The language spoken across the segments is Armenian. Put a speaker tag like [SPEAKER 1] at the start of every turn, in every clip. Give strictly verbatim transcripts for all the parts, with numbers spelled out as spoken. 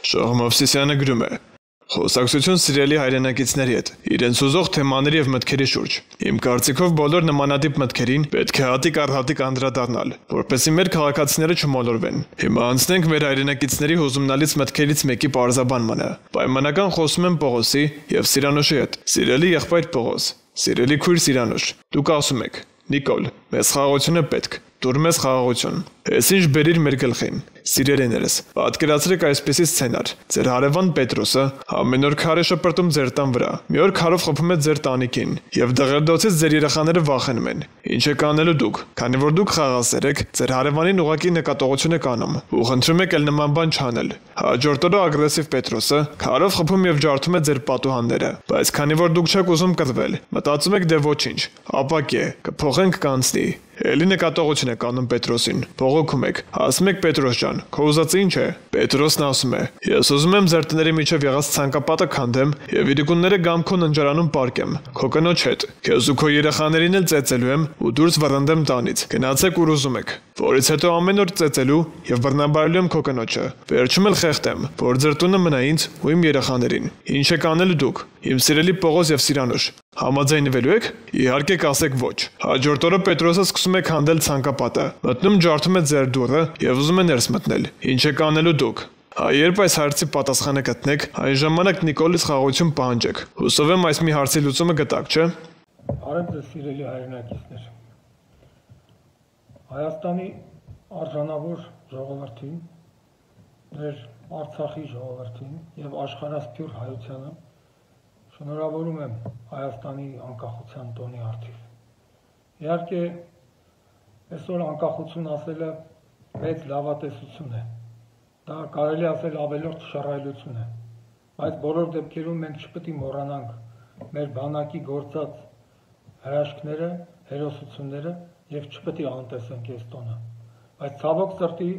[SPEAKER 1] Շահ Մովսիսյանը գրում է. Խոսակցություն սիրելի հայրենակիցների հետ, իրենց ուզող թեմաների եւ մտքերի շուրջ։ Իմ կարծիքով բոլոր նմանատիպ մտքերին պետք է հատիկ առ հատիկ անդրադառնալ, որպեսզի մեր քաղաքացիները չմոլորվեն։ Հիմա անցնենք մեր հայրենակիցների հուզումնալից մտքերից մեկի պարզաբանմանը։ Պայմանական խոսում եմ Պողոսի եւ Սիրանոշի հետ։ Սիրելի եղբայր Պողոս, սիրելի քույր Սիրանոշ, դուք ասում եք. Նիկոլ, մեզ խաղաղությունը պետք, դուր մեզ խաղաղություն։ Ես ինչ բերիր մեր գլխին։ Սիրելիներս, պատկերացրեք այսպեսի սցենար։ Ձեր հարևան Պետրոսը ամեն օր քար է շպրտում ձեր տան վրա։ Մի օր քարով խփում է ձեր տանիքին, եւ դղերդոցից ձեր երեխաները վախենում են։ Ինչ եք անելու դուք, քանի որ դուք խաղաղասեր եք, ձեր հարևանին ուղղակի նկատողություն եք անում, ու խնդրում եք էլ նման բան չանել։ Հաջորդ օրը ագրեսիվ Պետրոսը քարով խփում եւ ջարդում է ձեր պատուհանները, բայց քանի որ դուք չեք ուզում կռվել, մտածում եք դե ոչինչ, ապակե, կփոխենք կանցնի։ Էլի նկատողություն եք անում Պետրոսին, բողոքում եք, ասում եք Պետրոս ջան, քո ուզածը ինչ է։ Պետրոսն ասում է. Ես ուզում եմ ձեր տների միջև եղած ցանկապատը քանդեմ եւ իրիկունները գամ քո ննջարանում պարկեմ, քո կնոջ հետ։ Քեզ ու քո երեխաներին էլ ծեծելու եմ ու դուրս վռնդեմ տանից։ Գնացեք ուր ուզում եք։ Որից հետո ամեն օր ծեծելու եւ բռնաբարելու եմ քո կնոջը։ Վերջում էլ խեղդեմ, որ ձեր տունը մնա ինձ ու իմ երեխաներին։ Ինչ եք անելու դուք, իմ սիրելի Պողոս եւ Սիրանուշ։ Համաձայնվելու եք։ Իհարկե կասեք ոչ։ Հաջորդ օրը Պետրոսը սկսում է քանդել ցանկապատը, մտնում ջարդում է ձեր դուռը եւ ուզում է ներս մտնել։ Ինչ եք անելու դուք։ Երբ այս հարցի պատասխանը գտնեք, այն ժամանակ Նիկոլից խաղաղություն պահանջեք։ Հուսով եմ այս մի հարցի լուծումը գտաք, չէ՞։
[SPEAKER 2] Արդ ձեզ սիրելի հայրենակիցներ։ Հայաստանի արժանավոր ժողովրդին, մեր Արցախի ժողովրդին եւ աշխարհասփյուր հայությանը շնորհավորում եմ Հայաստանի անկախության տոնի առթիվ։ Իհարկե, այսօր անկախություն ասելը մեծ լավատեսություն է։ Դա կարելի ասել ավելորդ շռայլություն է, բայց բոլոր դեպքերում մենք չպետք է մոռանանք մեր բանակի գործած հրաշքները, հերոսությունները եւ չպետք է անտեսենք այս տոնը։ Բայց ցավոք սրտի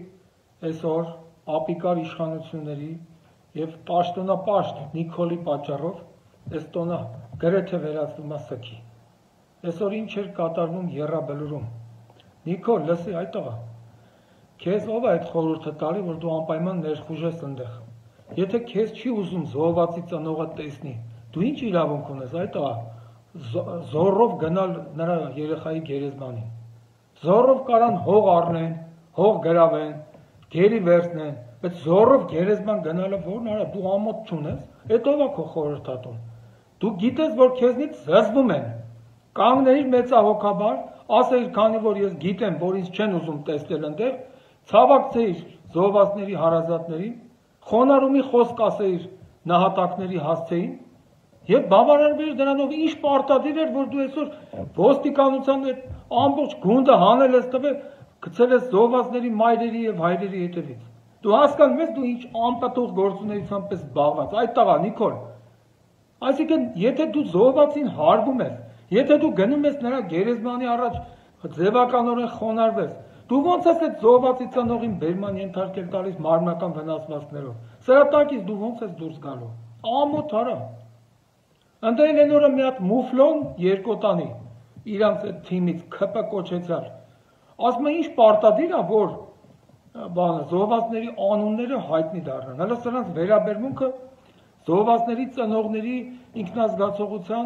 [SPEAKER 2] այսօր ապիկար իշխանությունների եւ պաշտոնապաշտ Նիկոլի պատճառով այս տոնը գրեթե վերածվում է սքի։ Այսօր ինչ էր կատարվում Եռաբլուրում։ Նիկոլ, լսի, այ տղա, քեզ ով է այդ խորհուրդը տալի, որ դու անպայման ներխուժես այնտեղ։ Եթե քեզ չի ուզում զոհվածի ծնողը տեսնի, դու ինչ իրավունք ունես, այ տղա, զոռով գնալ նրա երեխայի գերեզմանին։ Զոռով կարան հող առնեն, հող գրավեն, գերի վերցնեն, բայց զոռով գերեզման գնալը որն արա, դու ամոթ չունես, այդ ով է քո խորհրդատուն։ Դու գիտես, որ քեզնից զզվում են։ Կանգնեիր մեծահոգաբար, ասեիր, քանի որ ես գիտեմ, որ ինձ չեն ուզում տեսնել այնտեղ, ցավակցեիր զոհվածների հարազատներին, խոնարհումի խոսք ասեիր նահատակների հասցեին եւ բավարարվեիր դրանով ինչ պարտադիր էր, որ դու այսօր ոստիկանության այդ ամբողջ գունդը հանել ես տվել, գցել ես զոհվածների մայրերի եւ հայրերի հետևից։ Դու հասկանում ես, դու ինչ անպտուղ գործունեությամբ ես զբաղված։ Այդ տղա Նիկոլ, այսինքն, եթե դու զոհվածին հարգում ես, եթե դու գնում ես նրա գերեզմանի առաջ ձևականորեն խոնարհվես, դու ո՞նց ես այդ զոհվածի ծնողին բերման ենթարկել տալիս մարմնական վնասվածքներով։ Սրա տակից դու ո՞նց ես դուրս գալու։ Ամոթ արա։ Ընդ այն օրը մի հատ մուֆլոն երկոտանի իրանց այդ թիմից ՔՊ կոչեցյալ։ Ասում է ինչ պարտադիր է, որ բանը զոհվածների անունները հայտնի դառնան։ Հələ սրանց վերաբերմունքը զոհվածների ծնողների ինքնազգացողության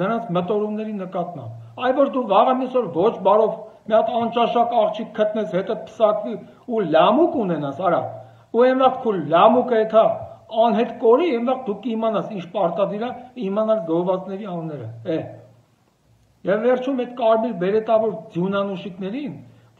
[SPEAKER 2] նրանց մտորումների նկատմամբ։ Այ որ դու վաղը մյուս օր ոչ բարով մի հատ անճաշակ աղջիկ գտնես, հետը փսակվի ու լամուկ ունենաս, արա։ Ու այն վաղ քո լամուկը էթա անհետ կորի, այն վաղ դու կիմանաս ինչ պարտադիր է իմանալ զոհվածների անունները։ Է։ Եվ վերջում այդ կարմիր բերետավոր ձյունանուշիկներին,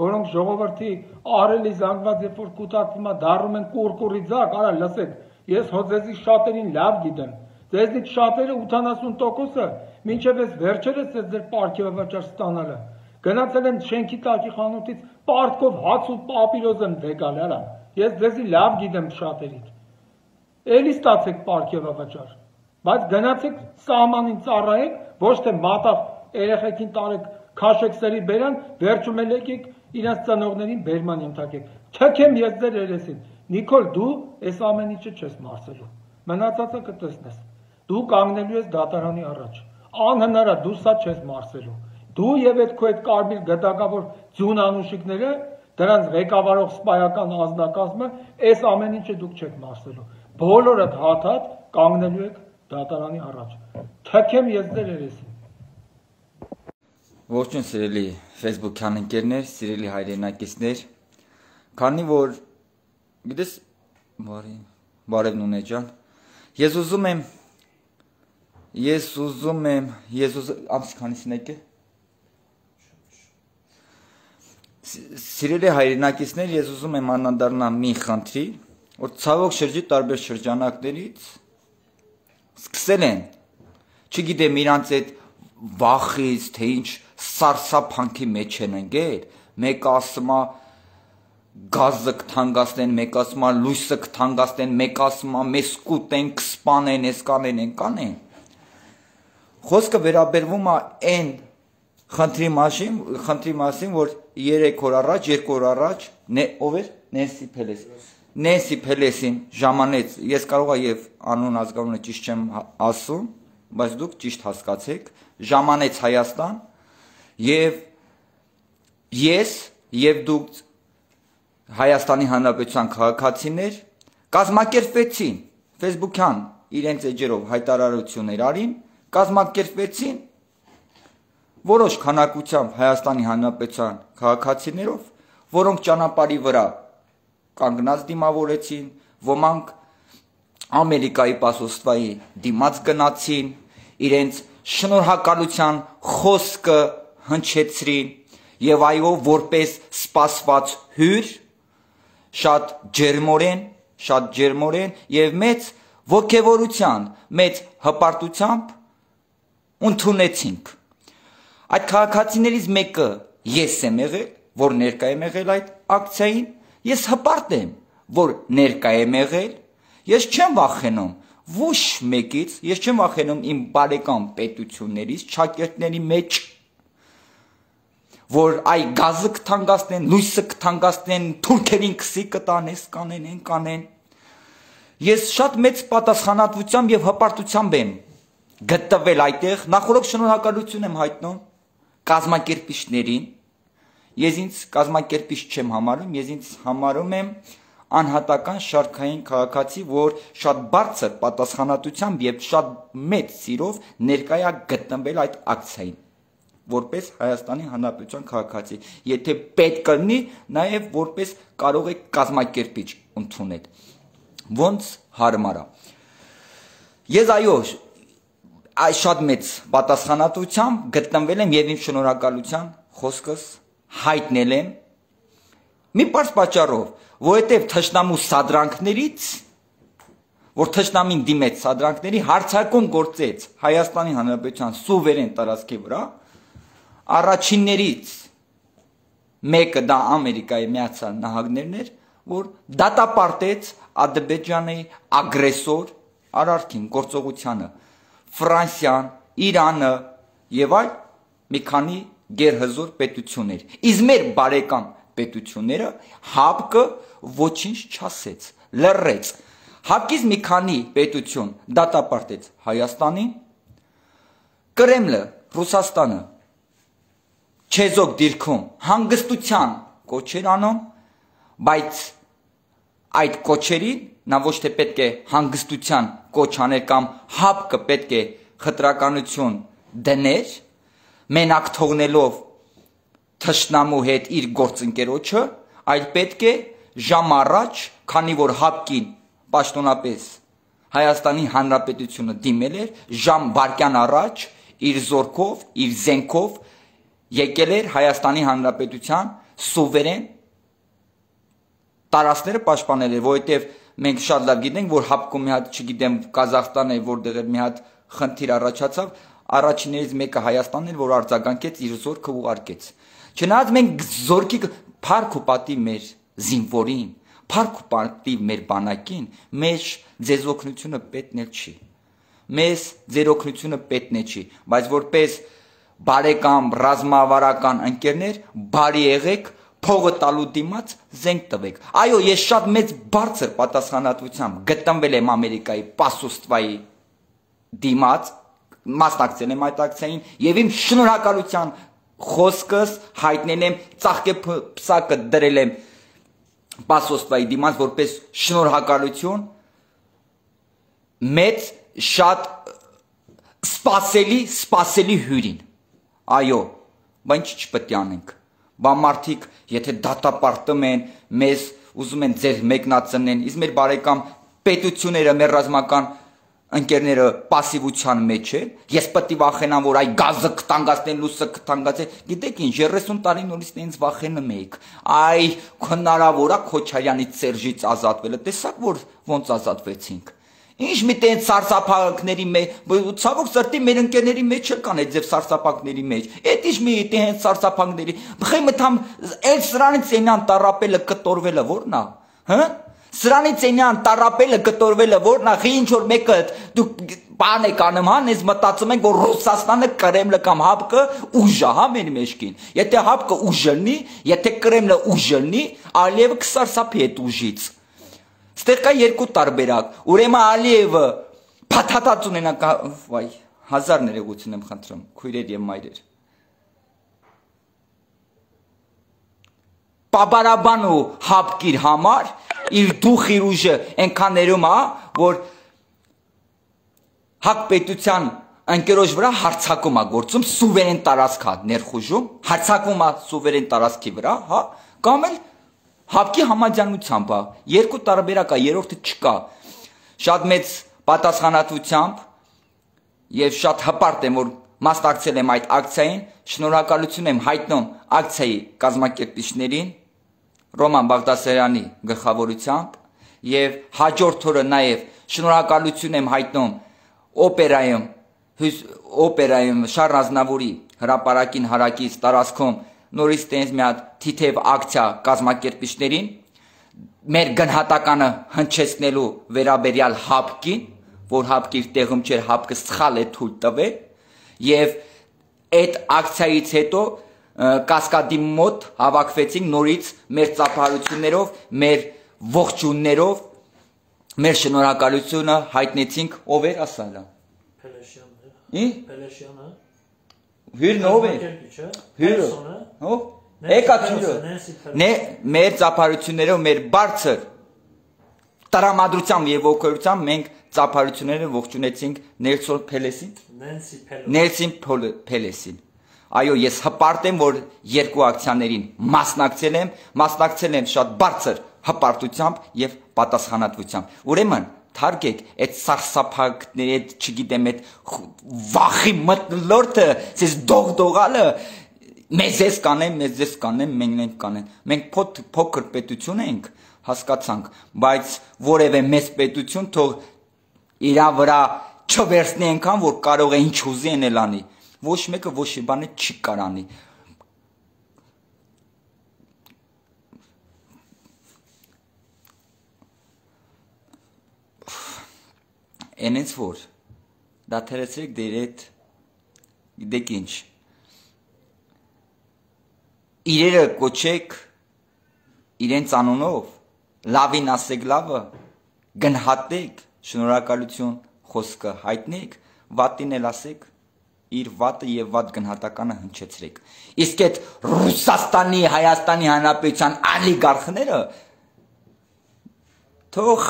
[SPEAKER 2] որոնք ժողովրդի ահռելի զանգված երբ որ կուտակվում է, դառնում են կուրկուրի ձակ, արա լսեք, ես հո ձեզի շատերին լավ գիտեմ։ Ձեզնից շատերը ութանասուն տոկոսը մինչև այս վերջերս ես ձեր պարգևավաճառ ստանալը։ Գնացել եմ շենքի տակի խանութից պարտքով հաց ու պապիրոզ եմ դեկալ, արա։ Ես ձեզի լավ գիտեմ շատերից։ Էլի ստացեք պարգևավաճառ, բայց գնացեք սահմանին ծառայեք, ոչ թե մատաղ երեխեքին տարեք քաշեք սերի բերան, վերջում էլ եկեք իրենց ծնողներին բերման ենթարկեք։ Թքեմ ես ձեր երեսին։ Նիկոլ, դու այս ամեն ինչը չես մարսելու։ Մնացածը կտեսնես։ Դու կանգնելու ես դատարանի առաջ։ Անհնար է, դու սա չես մարսելու։ Դու եւ այդ քո այդ կարմիր գդակավոր ձյուն անուշիկները դրանց ղեկավարող սպայական անձնակազմը այս ամեն ինչը դուք չեք մասնելու։ Բոլորը հաթաթ կանգնելու եք դատարանի առաջ։ Թքեմ ես դեր երեսին։
[SPEAKER 3] Ողջույն սիրելի Facebook-յան ընկերներ, սիրելի հայրենակիցներ, քանի որ գիտես բարի բարև Նունե ջան, ես ուզում եմ ես ուզում եմ ես ուզ ամս քանիսն եք է Սիրելի հայրենակիցներ, ես ուզում եմ անդրադառնալ մի խնդրի, որ ցավոք շրջի տարբեր շրջանակներից սկսել են, չգիտեմ իրանց այդ վախից, թե ինչ սարսափանքի մեջ են ընկել, մեկը ասում է գազը կթանկացնեն, մեկը ասում է լույսը կթանկացնեն, մեկը ասում է մեզ կուտեն, կսպանեն, էս կանեն, են կանեն։ Խոսքը վերաբերվում է այն խնդրի մասին, խնդրի մասին, որ երեք օր առաջ, երկու օր առաջ, ով էր Նենսի Փելես։ Նենսի Փելեսին ժամանեց, ես կարող եմ եւ անուն ազգանունը ճիշտ չեմ ասում, բայց դուք ճիշտ հասկացեք, ժամանեց Հայաստան եւ ես եւ դուք Հայաստանի Հանրապետության քաղաքացիներ կազմակերպվեցին Facebook-յան իրենց էջերով հայտարարություններ արին, կազմակերպվեցին որոշ քանակությամբ Հայաստանի Հանրապետության քաղաքացիներով, որոնք ճանապարհի վրա կանգնած դիմավորեցին, ոմանք Ամերիկայի պասոստվայի դիմաց գնացին, իրենց շնորհակալության խոսքը հնչեցրին եւ այո, որպես սպասված հյուր, շատ ջերմորեն, շատ ջերմորեն եւ մեծ ոգևորության, մեծ հպարտությամբ ընդունեցինք։ Այդ քաղաքացիներից մեկը ես եմ եղել, որ ներկա եմ եղել այդ ակցիային, ես հպարտ եմ, որ ներկա եմ եղել, ես չեմ վախենում ոչ մեկից, ես չեմ վախենում իմ բարեկամ պետություններից, ճակերտների մեջ, որ այ գազը կթանկացնեն, լույսը կթանկացնեն, թուրքերին քսի կտան, էս կանեն, են կանեն։ Ես շատ մեծ պատասխանատվությամբ եւ հպարտությամբ եմ գտնվել այդտեղ, նախորդ շնորհակալություն եմ հայտնում կազմակերպիչներին, ես ինձ կազմակերպիչ չեմ համարում, ես ինձ համարում եմ անհատական շարքային քաղաքացի, որ շատ բարձր պատասխանատվությամբ եւ շատ մեծ սիրով ներկա է գտնվել այդ ակցիային, որպես Հայաստանի Հանրապետության քաղաքացի, եթե պետք կլինի, նաեւ որպես կարող եք կազմակերպիչ ընդունել, ոնց հարմար է։ Ես այո Այս շատ մեծ պատասխանատվությամբ գտնվել եմ եւ իմ շնորհակալության խոսքս հայտնել եմ մի պարզ պատճառով, որովհետեւ թշնամու սադրանքներից, որ թշնամին դիմեց սադրանքների հարձակում գործեց Հայաստանի Հանրապետության սուվերեն տարածքի վրա, առաջիններից մեկը դա Ամերիկայի Միացյալ Նահանգներն էր, որ դատապարտեց Ադրբեջանի ագրեսոր արարքին, գործողությանը Ֆրանսիան, Իրանը եւ այլ մի քանի գերհզոր պետություններ։ Իսկ մեր բարեկամ պետությունները ՀԱՊԿ-ը ոչինչ չասեց, լռեց։ ՀԱՊԿ-ից մի քանի պետություն դատապարտեց Հայաստանին, Կրեմլը, Ռուսաստանը չեզոք դիրքում հանգստության կոչեր անում, բայց այդ կոչերին նա ոչ թե պետք է հանգստության կոչ աներ կամ ՀԱՊԿ-ը պետք է խտրականություն դներ, մենակ թողնելով թշնամու հետ իր գործընկերոջը, այլ պետք է ժամ առաջ, քանի որ ՀԱՊԿ-ին պաշտոնապես Հայաստանի Հանրապետությունը դիմել էր, ժամ վայրկյան առաջ իր զորքով, իր զենքով եկել էր Հայաստանի Հանրապետության սուվերեն տարածքները պաշտպանել էր, որովհետև մենք շատ լավ գիտենք, որ ՀԱՊԿ-ում մի հատ, չգիտեմ, Կազախստան է, որտեղ էր մի հատ խնդիր առաջացավ, առաջիններից մեկը Հայաստանն էր, որ արձագանքեց իր զորքը ուղարկեց։ Չնայած մենք զորքի փառք ու պատիվ մեր զինվորին, փառք ու պատիվ մեր բանակին, մեր ձեզ օգնությունը պետքն էլ չի։ Մեզ ձեր օգնությունը պետքն է չի, բայց որպես բարեկամ ռազմավարական ընկերներ բարի եղեք, փողը տալու դիմաց զենք տվեք։ Այո, ես շատ մեծ բարձր պատասխանատվությամբ գտնվել եմ Ամերիկայի պասոստվայի դիմաց, մասնակցել եմ այդ ակցիային եւ իմ շնորհակալության խոսքս հայտնել եմ, ծաղկեպսակը դրել եմ Պասոստվայի դիմաց որպես շնորհակալություն մեծ շատ սպասելի սպասելի հյուրին։ Այո, բա ինչ չպետք է անենք։ Բա մարդիկ, եթե դատապարտում են, մեզ ուզում են ձեր մեկնածնեն, իսկ մեր բարեկամ պետությունները, մեր ռազմական ընկերները պասիվության մեջ են, ես պետք է վախենամ, որ այ գազը կտանգացնեն, լույսը կտանգացնեն, գիտեք ինչ, երեսուն տարի նորից նենց վախենում եք, այ հնարավոր է Քոչարյանից Սերժից ազատվելը, տեսակ որ ոնց ազատվեցինք։ Ինչ մի տենց սարսափակների մեջ, ցավոք սրտի մեր ընկերների մեջ չկան այդ ձև սարսափակների մեջ։ Այդ ինչ մի տենց սարսափակների, բխե մտամ էլ սրանից այնան տարապելը կտորվելը որն է, հա։ Սրանից այնյան տարապելը կտորվելը որն է, ինչ որ մեկը դուք բան եք անում, հա, ես մտածում ենք որ Ռուսաստանը Կրեմլը կամ ՀԱՊԿ ուժ է, հա, մեր մեջքին։ Եթե ՀԱՊԿ ուժ լինի, եթե Կրեմլը ուժ լինի, Ալիևը կսարսափի այդ ուժից։ Ստեղ կա երկու տարբերակ։ Ուրեմն Ալիևը փաթաթած ունենա, վայ, հազար ներողություն եմ խնդրում, քույրեր եւ մայրեր։ Պաբարաբան ու հապկիր համար իր դուխ իր ուժը այնքան ներում է, որ հակ պետության ընկերոջ վրա հարցակում է գործում, սուվերեն տարածք է ներխուժում, հարցակվում է սուվերեն տարածքի վրա, հա, կամ էլ հապկի համաձայնությամբ է, երկու տարբերակ է, երրորդը չկա, շատ մեծ պատասխանատվությամբ եւ շատ հպարտ եմ, որ մասնակցել եմ այդ ակցիային, շնորհակալություն եմ հայտնում ակցիայի կազմակերպիչներին, Ռոման Բաղդասարյանի գլխավորությամբ եւ հաջորդ օրը նաեւ շնորհակալություն եմ հայտնում օպերայում օպերայում Շարլ Ազնավուրի հրապարակին հարակից տարածքում նորից տենց մի հատ թիթև ակցիա կազմակերպիչներին մեր գնահատականը հնչեցնելու վերաբերյալ ՀԱՊԿ-ին, որ ՀԱՊԿ-ը իր տեղում չէր, ՀԱՊԿ-ը սխալ է թույլ տվել եւ այդ ակցիայից հետո Կասկադի մոտ հավաքվեցինք նորից մեր ծափահարություններով, մեր ողջուններով, մեր շնորհակալությունը հայտնեցինք ով էր ասալա։ Փելեշյանն է։ Փելեշյանը։ Հյուրն ով է։ Հյուրը։ Ո՞վ։ Եկա հյուրը։ Մեր ծափահարություններով, մեր բարձր տրամադրությամբ եւ ողջունությամբ մենք ծափահարությունները ողջունեցինք Նելսոն Փելեսին։ Նելսին Փելեսին։ Այո, ես հպարտ եմ, որ երկու ակցիաներին մասնակցել եմ, մասնակցել եմ շատ բարձր հպարտությամբ եւ պատասխանատվությամբ։ Ուրեմն, թարգեք այդ սարսափակների, այդ չգիտեմ, այդ վախի մթնոլորտը, ցես դողդողալը, մեզ էս կանեն, մեզ էս կանեն, մենք ենք կանեն։ Մենք փոքր պետություն ենք, հասկացանք, բայց որևէ մեծ պետություն թող իրա վրա չվերցնի այնքան, որ կարող է ինչ ուզի անել անի։ Ոչ մեկը ոչ մի բան չի կարանի։ Այնց որ դադարեցրեք դեր այդ գիտեք ինչ իրերը կոչեք իրենց անունով լավին ասեք լավը գնահատեք շնորհակալություն խոսքը հայտնեք վատին էլ ասեք իր վատը եւ վատ գնահատականը հնչեցրեք։ Իսկ այդ Ռուսաստանի, Հայաստանի Հանրապետության ալիգարխները թող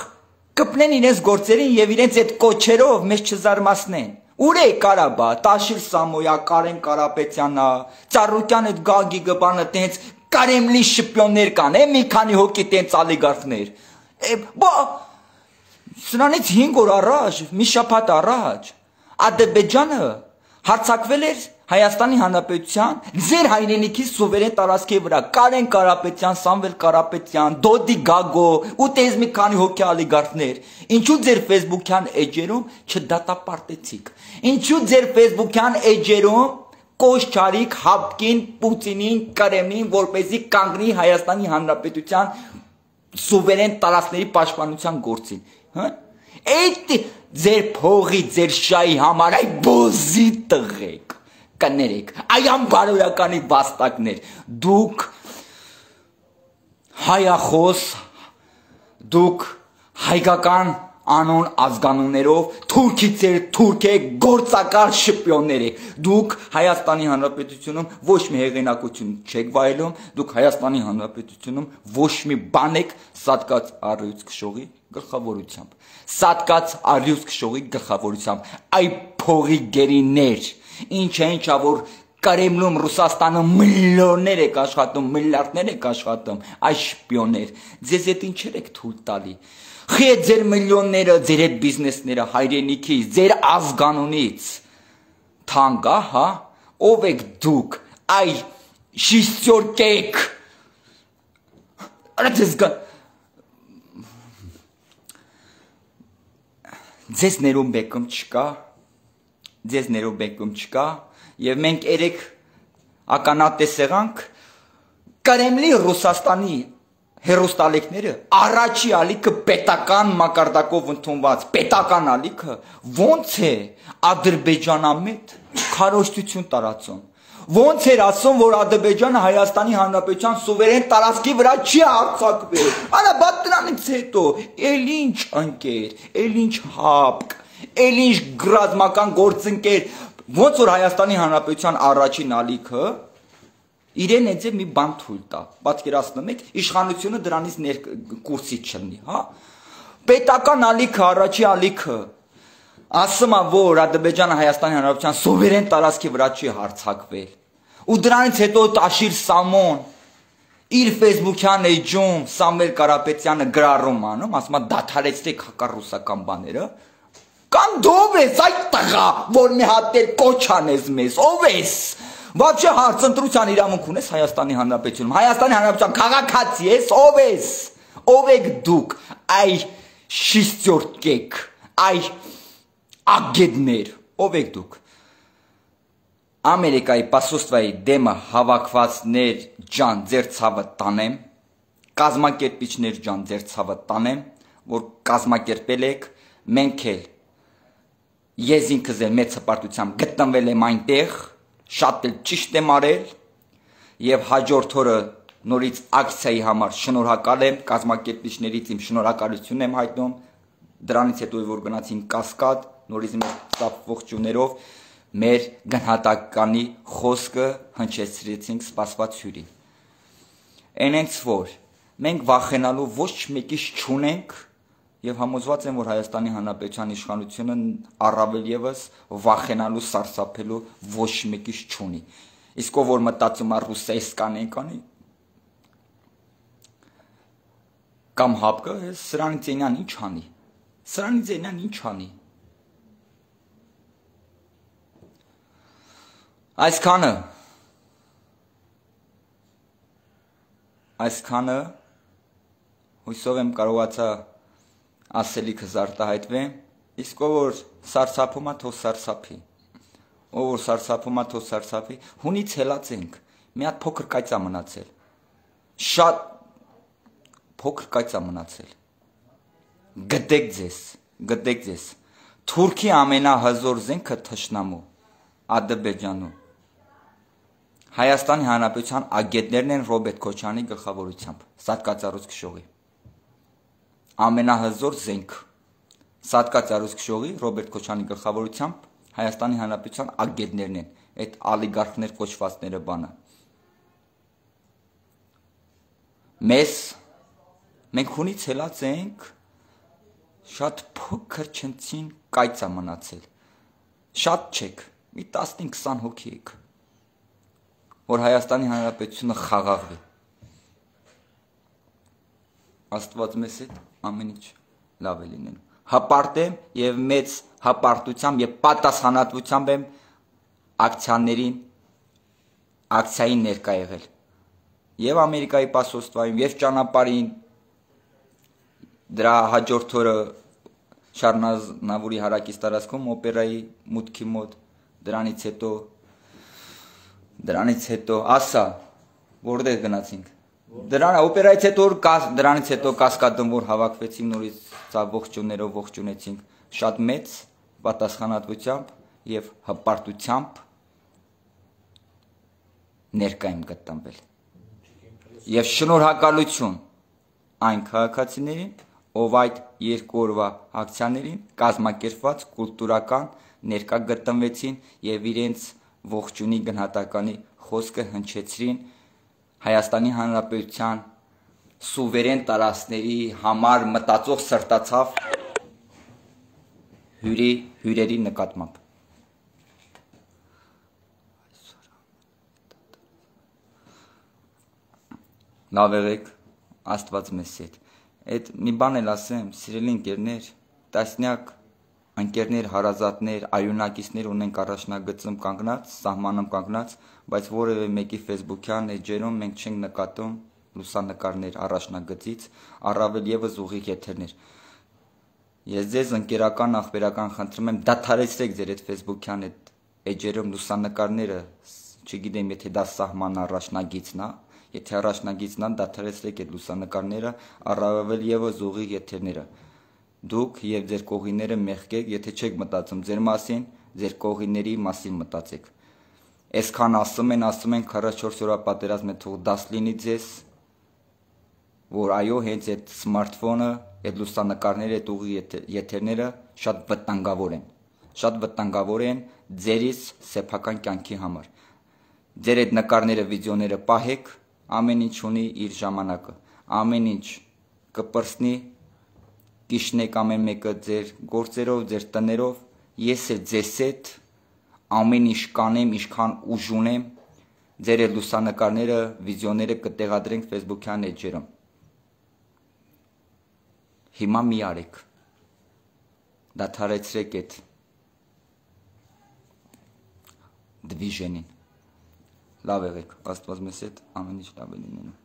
[SPEAKER 3] կպնեն իրենց գործերին եւ իրենց այդ կոչերով մեզ չզարմացնեն։ Ուր է Կարաբա, Տաշիր Սամոյա, Կարեն Կարապետյանը, Ծառուկյան այդ Գագիգը բանը տենց Կարեմլի շպիոններ կան, է մի քանի հոգի տենց ալիգարխներ։ Բա սրանից հինգ օր առաջ, մի շաբաթ առաջ Ադրբեջանը հարցակվել էր Հայաստանի Հանրապետության ձեր հայրենիքի սուվերեն տարածքի վրա Կարեն Կարապետյան, Սամվել Կարապետյան, Դոդի Գագո ու տես մի քանի հոգի ալիգարխներ։ Ինչու ձեր Facebook-յան էջերում չդատապարտեցիք։ Ինչու ձեր Facebook-յան էջերում կոչ չարիք ՀԱՊԿ-ին, Պուտինին, Կրեմլին, որպեսզի կանգնի Հայաստանի Հանրապետության սուվերեն տարածքների պաշտպանության գործին, հա։ Այդ ձեր փողի, ձեր շայի համար այ բոզի տղեկ կներեք, այ անբարոյականի վաստակներ, դուք հայախոս, դուք հայկական անոն ազգանուններով թուրքից էր թուրք է գործակալ շպիոններ եք դուք Հայաստանի Հանրապետությունում ոչ մի հեղինակություն չեք վայելում դուք Հայաստանի Հանրապետությունում ոչ մի բան եք սատկած առյուծ քշողի գլխավորությամբ սատկած առյուծ քշողի գլխավորությամբ այ փողի գերիներ ինչ է ինչա որ Կարեմլում Ռուսաստանում միլիոններ եք աշխատում, միլիարդներ եք աշխատում, այս շպիոններ, ձեզ այդ ինչեր եք թույլ տալի։ Խի է ձեր միլիոնները, ձեր այդ բիզնեսները հայրենիքից, ձեր ազգանունից։ Թանկա, հա, ով եք դուք, այ շիստյորկեք։ Արա ձեզ գա ձեզ ներում բեկում չկա, ձեզ ներում բեկում չկա, Եվ մենք երեք ականատես եղանք Կարեմլի Ռուսաստանի հերոստալեքները առաջի ալիքը պետական մակարդակով ընդունված պետական ալիքը ոնց է Ադրբեջանամետ քարոզություն տարածում ոնց էր ասում որ Ադրբեջանը Հայաստանի Հանրապետության սուվերեն տարածքի վրա չի հարձակվել արա բա դրանից հետո էլ ինչ ընկեր էլ ինչ հապկ էլ ինչ գրազմական գործընկեր Ոնց որ Հայաստանի Հանրապետության առաջին ալիքը իրեն էձե մի բան թույլ տա, պատկերացնում եք, իշխանությունը դրանից կուրսի չլինի, հա։ Պետական ալիքը, առաջի ալիքը ասում է, որ Ադրբեջանը Հայաստանի Հանրապետության սուվերեն տարածքի վրա չի հարձակվել։ Ու դրանից հետո Տաշիր Սամոն իր Facebook-յան էջում Սամվել Կարապետյանը գրառում անում, ասում է դադարեցրեք հակառուսական բաները։ Կամ դով ես այդ տղա, որ մի հատ էր կոչ անես մեզ, ով ես, Вообще հարցընտրության իրավունք ունես Հայաստանի Հանրապետությունում, Հայաստանի Հանրապետության քաղաքացի ես, ով ես, ով եք դուք, այ շիստյորկեք, այ ագեդներ, ով եք դուք, Ամերիկայի պասոստվայի դեմը հավաքվածներ ջան ձեր ցավը տանեմ, կազմակերպիչներ ջան ձեր ցավը տանեմ, որ կազմակերպել եք, մենք էլ Ես ինքս էլ մեծ հպարտությամբ գտնվել եմ այնտեղ, շատ էլ ճիշտ եմ արել եւ հաջորդ օրը նորից ակցիայի համար շնորհակալ եմ, կազմակերպիչներից իմ շնորհակալությունն եմ հայտնում, դրանից հետո որ գնացին Կասկադ, նորից մեր ստապ ողջույններով մեր գնահատականի խոսքը հնչեցրեցինք սպասված հյուրին։ Այնենց որ մենք վախենալու ոչ մեկից չունենք Եվ համոզված եմ, որ Հայաստանի Հանրապետության իշխանությունը առավել ևս վախենալու սարսափելու ոչ մեկից չունի։ Իսկ ով որ մտածում է ռուսեյսկան եկանի կամ հապկը, սրանից այնան ինչ անի։ Սրանից այնան ինչ անի։ Այսքանը Այսքանը հույսով եմ կարողացա ասելիքս արտահայտվեմ, իսկ ով որ սարսափում է թող սարսափի, ով որ սարսափում է թող սարսափի, հունից հելացենք, մի հատ փոքր կայծա մնացել, շատ փոքր կայծա մնացել, գտեք ձեզ, գտեք ձեզ, Թուրքի ամենահզոր զենքը թշնամու, Ադրբեջանում, Հայաստանի Հանրապետության ագետներն են Ռոբերտ Քոչարյանի գլխավորությամբ, սատկածառուց քշողի Ամենահզոր զենք Սատկածառուց քշողի Ռոբերտ Քոչարյանի գլխավորությամբ Հայաստանի Հանրապետության ագետներն են, այդ ալիգարխներ կոչվածները բանը։ Մեզ մենք հունից հելած ենք շատ փոքր չնցին կայծա մնացել։ Շատ չեք, մի տասնհինգ քսան հոգի եք, որ Հայաստանի Հանրապետությունը խաղաղվի։ Աստված մեզ հետ ամեն ինչ լավ է լինելու։ Հպարտեմ եւ մեծ հպարտությամբ եւ պատասխանատվությամբ եմ ակցիաներին ակցիային ներկա եղել։ Եվ Ամերիկայի պասոստվայում եւ ճանապարհին դրա հաջորդ օրը Շարնազնավուրի հարակից տարածքում օպերայի մուտքի մոտ դրանից հետո դրանից հետո ասա որտեղ գնացինք Դրան օպերայից հետո դրանից հետո Կասկադում որ հավաքվեցինք նորից ցավ ողջուններով ողջունեցինք շատ մեծ պատասխանատվությամբ եւ հպարտությամբ ներկա եմ գտնվել եւ շնորհակալություն այն քաղաքացիներին ով այդ երկու օրվա ակցիաներին կազմակերպված կուլտուրական ներկա գտնվեցին եւ իրենց ողջունի գնահատականի խոսքը հնչեցրին Հայաստանի Հանրապետության սուվերեն տարածքների համար մտածող սրտացավ հյուրի հյուրերի նկատմամբ։ Լավ եղեք, Աստված մեզ հետ։ Այդ մի բան էլ ասեմ, սիրելի ընկերներ, տասնյակ ընկերներ, հարազատներ, արյունակիցներ ունենք առաջնագծում կանգնած, սահմանում կանգնած, բայց որևէ մեկի Facebook-յան էջերում մենք չենք նկատում լուսանկարներ առաջնագծից, առավել եւս ուղիղ եթերներ։ Ես ձեզ ընկերական ախբերական խնդրում եմ, դադարեցրեք ձեր այդ Facebook-յան այդ էջերում լուսանկարները, չգիտեմ, եթե դա սահման առաջնագիծն է, եթե առաջնագիծն է, դադարեցրեք այդ լուսանկարները, առավել եւս ուղիղ եթերները։ Դուք եւ ձեր կողիները մեղքեք, եթե չեք մտածում ձեր մասին, ձեր կողիների մասին մտածեք։ Այսքան ասում են, ասում են քառասունչորս օրվա պատերազմը թող դաս լինի ձեզ, որ այո, հենց այդ սմարթֆոնը, այդ լուսանկարները, այդ ուղիղ եթերները շատ վտանգավոր են։ Շատ վտանգավոր են ձերից սեփական կյանքի համար։ Ձեր այդ նկարները, վիդեոները պահեք, ամեն ինչ ունի իր ժամանակը։ Ամեն ինչ կպրծնի Կիշնեք ամեն մեկը ձեր գործերով, ձեր տներով, ես էլ ձեզ հետ ամեն ինչ կանեմ, ինչքան ուժ ունեմ, ձեր այդ լուսանկարները, վիդեոները կտեղադրենք Facebook-յան էջերում։ Հիմա մի արեք։ Դադարեցրեք այդ դվիժենին։ Լավ եղեք, Աստված մեզ հետ ամեն ինչ լավ է լինելու։